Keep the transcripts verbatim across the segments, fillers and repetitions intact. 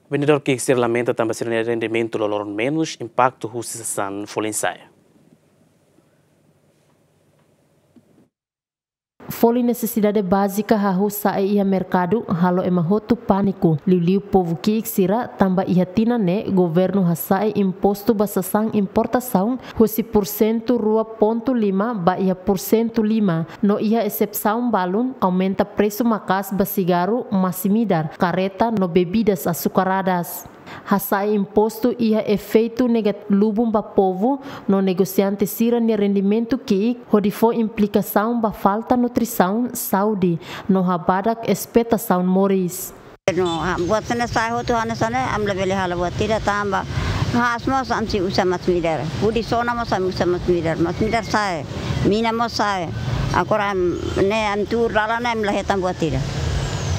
Vendedór ki'ik sira lamenta tanba sira-nia rendimentu loroloron menus, impaktu husi sasán folin sa'e. Folin nesesidade bázika hahú sa'e iha merkadu halo ema hotu pániku, liuliu povu ki'ik sira, tanba iha tinan ne'e governu hasa'e impostu ba sasán importasaun husi pursentu rua pontu lima ba iha pursentu lima, no iha esepsaun balun aumenta presu maka'as ba sigarru, masin-midar, kareta no bebidas açucaradas. Hasa'e impostu iha efeitu negat-, lubun ba povu no negosiante sira-nia rendimentu ki'ik, hodi fó implikasaun ba falta nutrisaun, saúde, no habadak espetasaun moris. No, ah, buat sira-ne'e sa'e hotu hanesan ne'e, ami labele halo buat ida tanba. Haas mós ami sei uza masin-midar. Hudi sona mós ami uza masin-midar. Masin-midar sa'e. Mina mós sa'e. Agora ami, ne'e ami tuur dalan ne'e ami la hetan buat ida.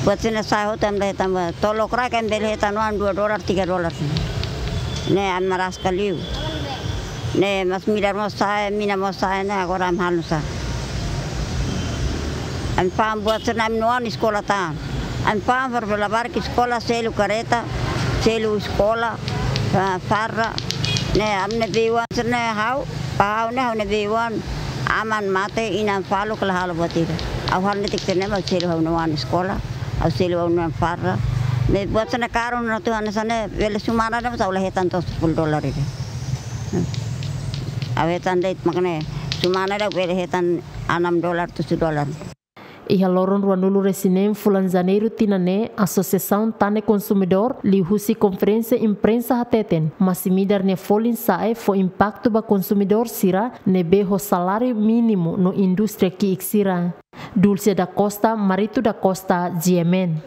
Buat sira-ne'e sa'e hotu ami la hetan buat. Tolok rai ami bele hetan oan dua dolar, tiga dolar. Ne'e ami maraska liu. Ne'e masin-midar mós sa'e, mina mós sa'e ne'e agora ami halo nusá. Ami fa'an buat sira-ne'e ami-nia oan eskola tan. Ami fa'an far bela barki eskola, selu kareta, selu eskola, ah, farda. Ne'e ami-nia bei-oan sira-ne'e ha'u, ba ha'u ne'e ha'u-nia bei-oan, aman mate, inan faluk la halo buat ida. Ha'u halo netik sira-ne'e mak selu ha'u-nia oan eskola, ha'u selu ha'u-nia oan farda. Ne'e buat sira-ne'e karun na tu hanesan ne'e, bele semana ida mós ha'u la hetan to'o sepuluh dolar ida. Ha'u hetan de'it mak ne'e, semana ida bele hetan enam dolar, tujuh dolar. Iha loron ruanulu-resin-neen fulan Janeiru tinan ne'e, Asosiasaun Tane Konsumidór liuhusi konferénsia imprensa hateten, masin-midar nia folin sa'e fó impaktu ba konsumidór sira ne'ebé ho saláriu mínimu no indústria ki'ik sira. Dulce da Costa, Marito da Costa, G M N.